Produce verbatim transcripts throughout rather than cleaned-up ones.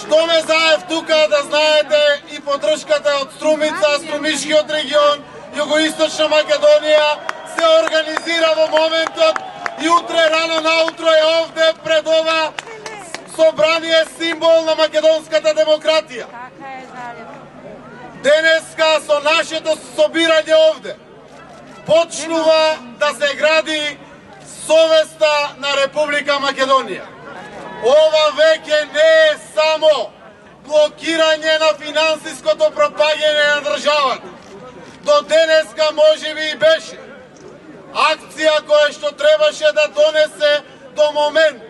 Што ме заев тука, да знаете, и поддршката од Струмица, Струмишкиот регион, Југоисточна Македонија се организира во моментот и утре рано наутро е овде пред ова собрание символ на македонската демократија. Денеска со нашето собирање овде почнува да се гради совеста на Република Македонија. Ова веќе не е само блокирање на финансиското пропаѓање на државата. До денеска можеби и беше акција која што требаше да донесе до момент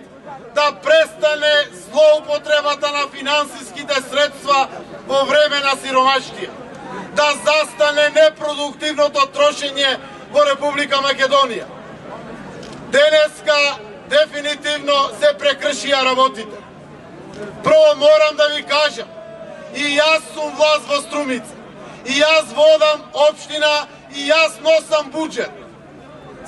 да престане злоупотребата на финансиските средства во време на сиромаштија, да застане непродуктивното трошење во Република Македонија. Денеска дефинитивно се прекршија работите. Прво морам да ви кажам, и јас сум власт во Струмица, и јас водам општина, и јас носам буџет.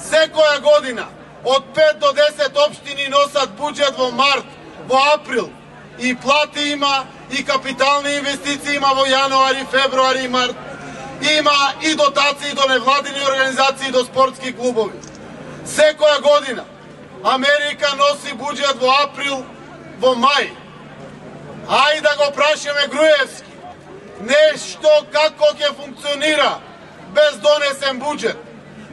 Секоја година од пет до десет општини носат буџет во март, во април, и плати има, и капитални инвестиции има во јануари, февруари и март, има и дотации до невладини организации, до спортски клубови. Секоја година Америка носи буџет во април, во мај. Ајде да го прашаме Груевски, нешто како ќе функционира без донесен буџет.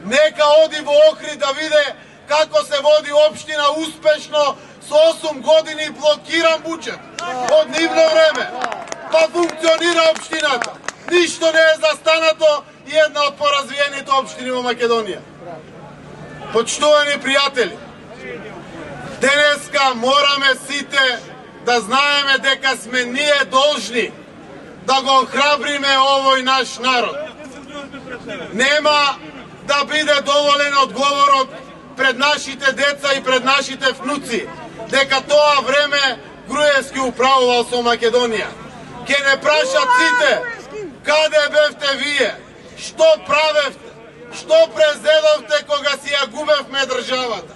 Нека оди во Охрид да виде како се води општина успешно со осум години блокиран буџет од нивно време. Па функционира општината. Ништо не е застанато и една од поразвиените општини во Македонија. Почитувани пријатели, денеска мораме сите да знаеме дека сме ние должни да го охрабриме овој наш народ. Нема да биде доволен одговорот пред нашите деца и пред нашите внуци дека тоа време Груевски управувал со Македонија. Ке не прашат сите каде бевте вие, што правевте, што презедовте кога си ја губевме државата,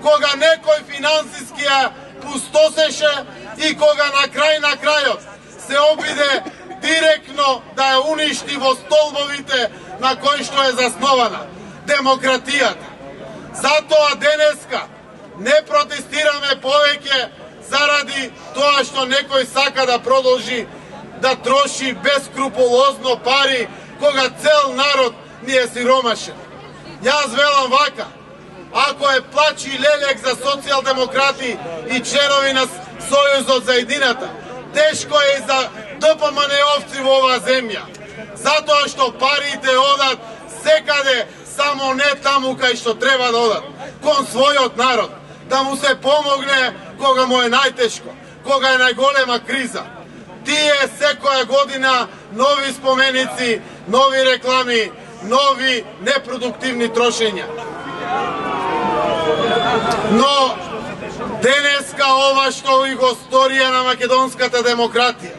кога некој финансиски ја пустосеше и кога на крај на крајот се обиде директно да ја уништи во столбовите на кои што е заснована демократијата. Затоа денеска не протестираме повеќе заради тоа што некој сака да продолжи да троши бескрупулозно пари кога цел народ ни е сиромашен. Јас велам вака, ако е плач и лелек за социјалдемократи и членови на Сојузот за едината, тешко е и за ДПМН-овци во оваа земја. Затоа што парите одат секаде, само не таму кај што треба да одат, кон својот народ, да му се помогне кога му е најтешко, кога е најголема криза. Тие секоја година нови споменици, нови реклами, нови непродуктивни трошења. Но денеска ова што и го сторија на македонската демократија,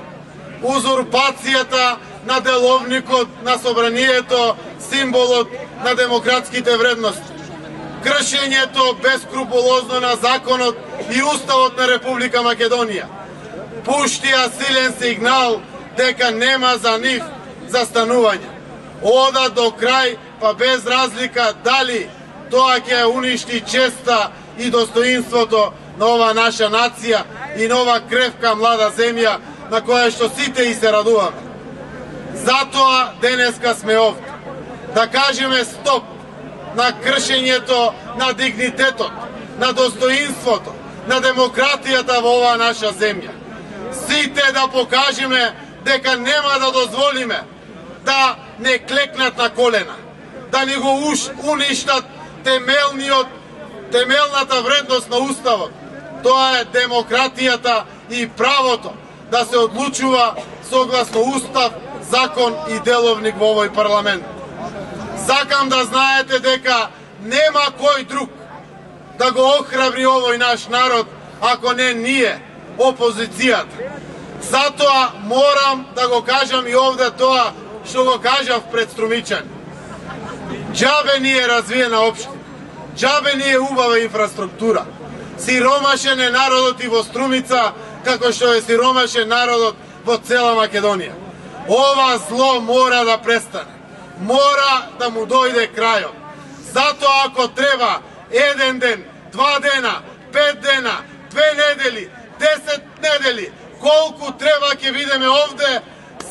узурпацијата на деловникот на собранието, символот на демократските вредности, кршењето бескрупулозно на законот и уставот на Република Македонија, пуштија силен сигнал дека нема за нив застанување. Ода до крај, па без разлика дали тоа ќе уништи честа и достоинството на ова наша нација и на ова кревка млада земја на која што сите и се радуваме. Затоа денеска сме овде. Да кажеме стоп на кршењето на дигнитетот, на достоинството, на демократијата во оваа наша земја. Сите да покажеме дека нема да дозволиме да не клекнат на колена, да ни го уништат темелниот, темелната вредност на уставот. Тоа е демократијата и правото да се одлучува согласно устав, закон и деловник во овој парламент. Сакам да знаете дека нема кој друг да го охрабри овој наш народ, ако не ние, опозицијата. Затоа морам да го кажам и овде тоа што го кажав пред струмичани. Џабе ни е развиена општина, џабе ни е убава инфраструктура. Сиромашен е народот и во Струмица како што е сиромашен народот во цела Македонија. Ова зло мора да престане. Мора да му дојде крајот. Затоа ако треба еден ден, два дена, пет дена, две недели, десет недели, колку треба ќе видиме овде,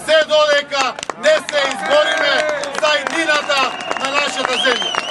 се додека не се избориме за иднината на нашата земја.